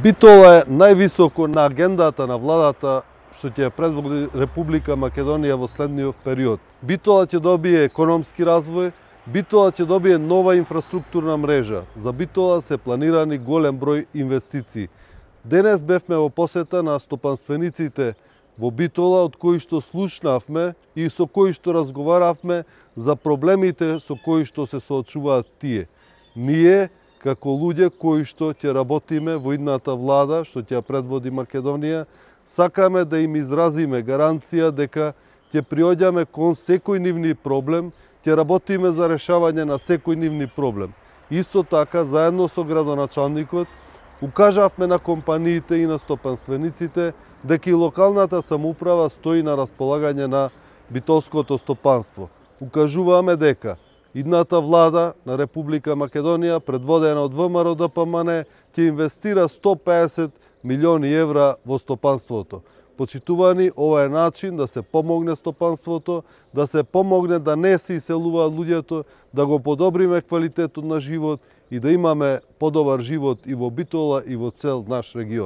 Битола е највисоко на агендата на владата што ќе предводи Република Македонија во следниот период. Битола ќе добие економски развој, Битола ќе добие нова инфраструктурна мрежа. За Битола се планирани голем број инвестиции. Денес бевме во посета на стопанствениците во Битола, од кои што слушнавме и со кои што разговаравме за проблемите со кои што се соочуваат тие. Ние, како луѓе кои што ќе работиме во идната влада, што ќе предводи Македонија, сакаме да им изразиме гаранција дека ќе приоѓаме кон секој нивни проблем, ќе работиме за решавање на секој нивни проблем. Исто така, заедно со градоначалникот, укажавме на компаниите и на стопанствениците дека и локалната самоуправа стои на располагање на битолското стопанство. Укажуваме дека идната влада на Република Македонија, предводена од ВМРО-ДПМН, ќе инвестира 150 милиони евра во стопанството. Почитувани, ова е начин да се помогне стопанството, да се помогне да не се иселуваат луѓето, да го подобриме квалитетот на живот и да имаме подобар живот и во Битола и во цел наш регион.